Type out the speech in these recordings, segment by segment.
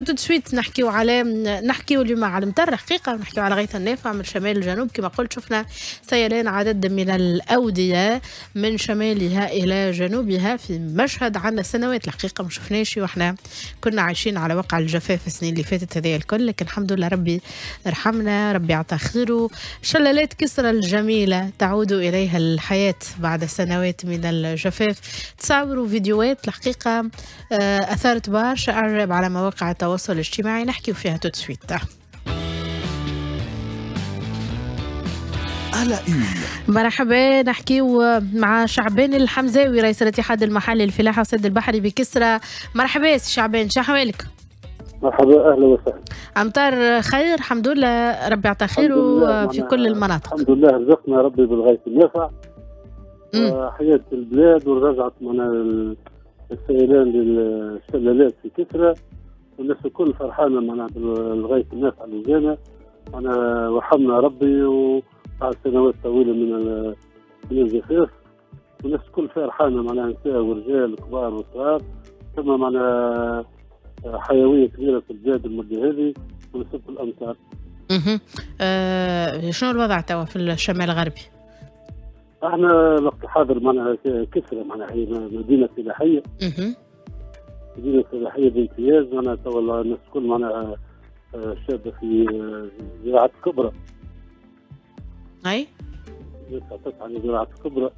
tout de suite نحكيو اليوم على المطر حقيقة، نحكيو على غيث النافع من شمال الجنوب. كما قلت شفنا سيلان عدد من الأودية من شمالها إلى جنوبها في مشهد عندنا سنوات الحقيقة ما شفناش، وإحنا كنا عايشين على وقع الجفاف السنين اللي فاتت هذه الكل، لكن الحمد لله ربي رحمنا، ربي عطى خيره. شلالات كسرى الجميلة تعود إليها الحياة بعد سنوات من الجفاف. تصاوروا فيديوهات الحقيقة أثارت برشا إعجاب على مواقع التواصل الاجتماعي، نحكي فيها tout de suite. مرحبا، نحكيو مع شعبان الحمزاوي رئيس الاتحاد المحلي للفلاحة والصيد البحري بكسرى. مرحبا سي شعبان، شو احوالك؟ مرحبا، اهلا وسهلا. امطار خير الحمد لله، ربي يعطى خير في كل المناطق. الحمد لله رزقنا ربي بالغيث النافع، حياة البلاد ورجعت معنا السيلان للشلالات في كسرى، والناس الكل فرحانة معناها بالغيث النافع اللي جانا، معناها وحمنا ربي وبعد سنوات طويلة من الجفاف، والناس الكل فرحانة معناها نساء ورجال كبار وصغار، ثم معناها حيوية كبيرة في البلاد المدة هذه ونسبة الامطار. شنو الوضع توا في الشمال الغربي؟ احنا الوقت الحاضر معناها كسرى معناها هي مدينة فلاحية. مدينة فلاحية بامتياز، معناها توا الناس الكل معناها شابة في زراعة الكبرى. أي؟ الناس تسعى لزراعة الكبرى،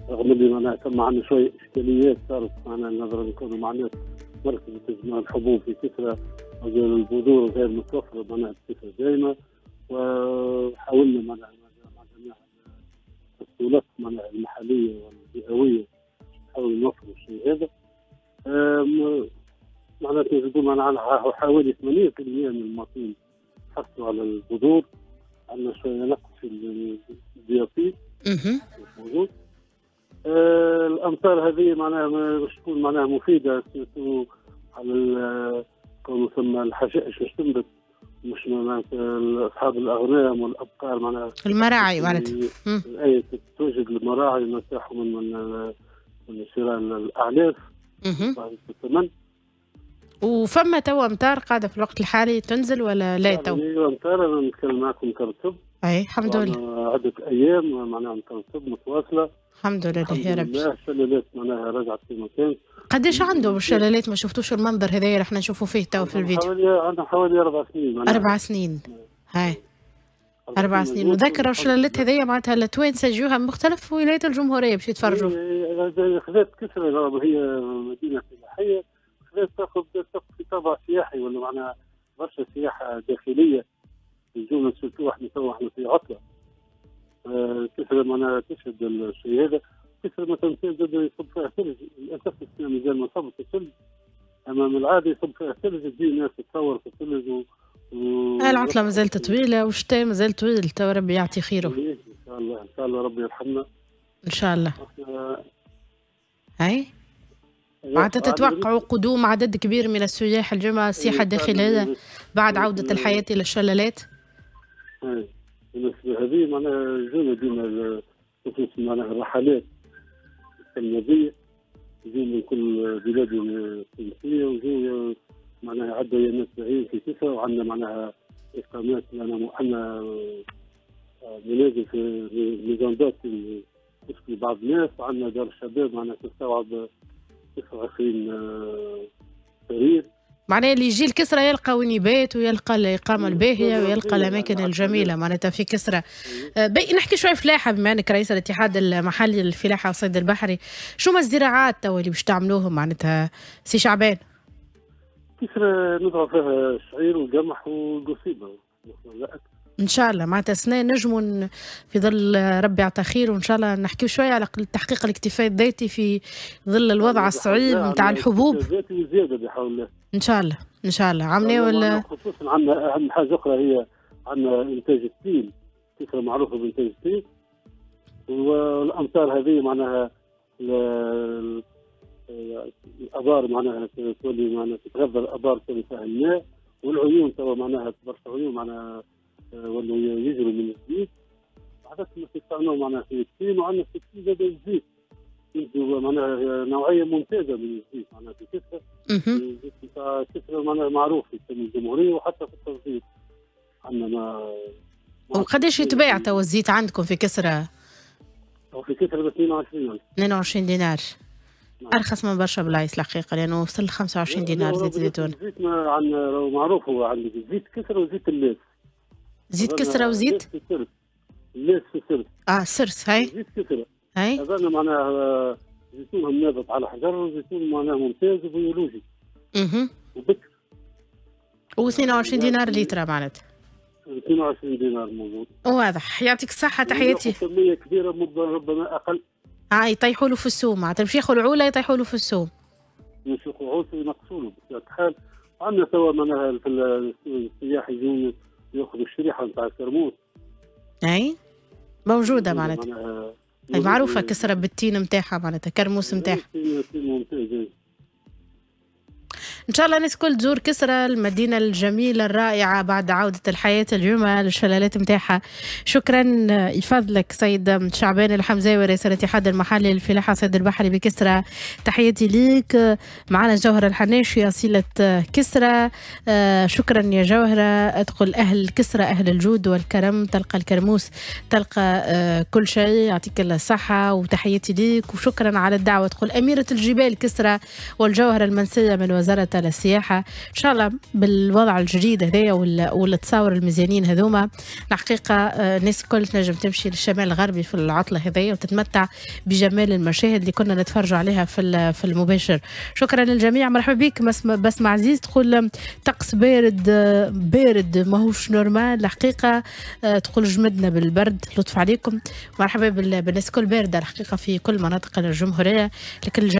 رغم اللي معناها ثم عندنا شوية إشكاليات صارت معناها نظرا لكونه معناها مركز تجمع الحبوب في كسرى البذور غير متوفرة معناها بصفة دائمة، وحاولنا معناها مع جميع السلطات معناها المحلية والجهوية نحاول نوفروا الشيء هذا. معناتها نقول معناها حوالي 80% من المواطنين حصلوا على البذور، عندنا شوية نقص في ال DAP موجود. الامطار هذه معناها باش تكون معناها مفيدة surtout على كون ثم الحشائش باش تنبت، مش معناها اصحاب الاغنام والابقار معناها المراعي معناتها اي توجد المراعي نرتاحوا من شراء الاعلاف. الثمن. وفما توا امطار قاعدة في الوقت الحالي تنزل ولا لا تو؟ ايوه امطار، انا نتكلم معكم كرتب. اي الحمد لله. عده ايام معناها امطار متواصلة. الحمد لله يا ربي. الشلالات معناها رجعت في مكان. قداش عندهم الشلالات؟ ما شفتوش المنظر هذايا اللي احنا نشوفوا فيه تو في الفيديو. عندهم حوالي 4 سنين. معناها 4 سنين. هاي 4 سنين. وذكر الشلالات هذيا معناتها التوانسة يجوها من مختلف ولايات الجمهورية باش يتفرجوا. خذات كسرى هي مدينة فلاحية، خذات تاخذ في طابع سياحي ولا معناها برشا سياحة داخلية يجونا surtout احنا توا احنا في عطله. كسرى معناها تشهد الشيء هذا. كسرى مثلا زاد يصب فيها ثلج، للاسف السنة مازال ما صبت الثلج، اما من العادة يصب فيها ثلج، تجي الناس تتصور في الثلج العطلة مازالت طويلة والشتاء مازال طويل، تو ربي يعطي خيره. إن شاء الله، إن شاء الله ربي يرحمنا. إن شاء الله. هاي معناتها تتوقعوا قدوم عدد كبير من السياح الجمعة، السياحة الداخلية بعد عودة الحياة إلى الشلالات؟ إيه بالنسبة هذه معناها يجونا ديما خصوصا معناها الرحلات السنوية، يجوا من كل بلاد التونسية ويجوا معناها عدوا ايامات بعيد في كسرى، وعندنا معناها اقامات، عندنا منازل في maisons d'hôtes تسكن بعض الناس، وعندنا دار الشباب معناها تستوعب 29 سرير. معناها اللي يجي لكسرى يلقى وين يبات ويلقى الإقامة الباهية ويلقى الأماكن الجميلة معناتها في كسرى. نحكي شوية فلاحة بما أنك رئيس الاتحاد المحلي للفلاحة والصيد البحري، شو ما الزراعات توا اللي باش تعملوهم معناتها سي شعبان؟ كسرى نزرع فيها الشعير والقمح والقصيبة. إن شاء الله معناتها السنة نجموا في ظل ربي يعطى خير، وإن شاء الله نحكيو شوية على تحقيق الاكتفاء الذاتي في ظل الوضع الصعيب نتاع الحبوب. الذاتي وزيادة بحول الله. إن شاء الله، إن شاء الله. عملنا ولا خصوصا عندنا أهم حاجة أخرى هي عندنا إنتاج التين، كسرى معروفة بإنتاج التين، والأمطار هذه معناها الابار معناها تولي معناها تتغذى الابار تولي فيها الماء، والعيون توا معناها برشا عيون معناها ولاو يجروا من الزيت، عادة ما تستعملوا معناها في التين، وعندنا في التين زاد الزيت. معناها نوعية ممتازة من الزيت معناها في كسرة. الزيت نتاع كسرة معناها معروف في الجمهورية وحتى في التصدير. عندنا ما وقداش يتباع توا الزيت عندكم في كسرة؟ في كسرة ب 22. 22 دينار. نعم. ارخص من برشا بلايص الحقيقة، لانه وصل 25 دينار زيت الزيتون. الزيت عندنا معروف، هو عندك زيت كسرة وزيت اللاس. زيت كسرة وزيت؟ اللاس في السرس. سرس هاي. زيت كسرة. هاي. هذا معناها زيتون نابت على حجر، وزيتون معناها ممتاز وبيولوجي. وبكر. و 22 دينار لتر معناتها. 22 دينار موجود. واضح، يعطيك الصحة، تحياتي. كمية كبيرة ربما أقل. يطيحوا له في السوم، معناتها باش ياخذوا العولة يطيحوا له في السوم. باش ياخذوا عولة ينقصوا له بطبيعة الحال. عندنا توا معناها في السياح يجون ياخذوا الشريحة نتاع الكرموس. أي موجودة معناتها. معروفة كسرة بالتين نتاعها معناتها، كرموس نتاعها. ممتاز. إن شاء الله الناس الكل تزور كسرى، المدينة الجميلة الرائعة بعد عودة الحياة اليوم للشلالات متاعها. شكرا يفضلك سيد شعبان الحمزاوي رئيس الاتحاد المحلي للفلاحة سيد البحري بكسرى، تحياتي ليك. معنا جوهرة الحناشي أصيلة كسرى، شكرا يا جوهرة. أدخل أهل كسرى أهل الجود والكرم، تلقى الكرموس تلقى كل شيء، يعطيك الصحة وتحياتي ليك وشكرا على الدعوة. تقول أميرة الجبال كسرى والجوهرة المنسية من وزارة السياحة. إن شاء الله بالوضع الجديد هذايا والتصاور المزيانين هذوما، الحقيقة الناس الكل تنجم تمشي للشمال الغربي في العطلة هذيا وتتمتع بجمال المشاهد اللي كنا نتفرجوا عليها في المباشر. شكرا للجميع، مرحبا بك بسمة عزيز. تقول طقس بارد بارد ماهوش normal الحقيقة، تقول جمدنا بالبرد، لطف عليكم. مرحبا بالناس الكل، باردة الحقيقة في كل مناطق الجمهورية، لكن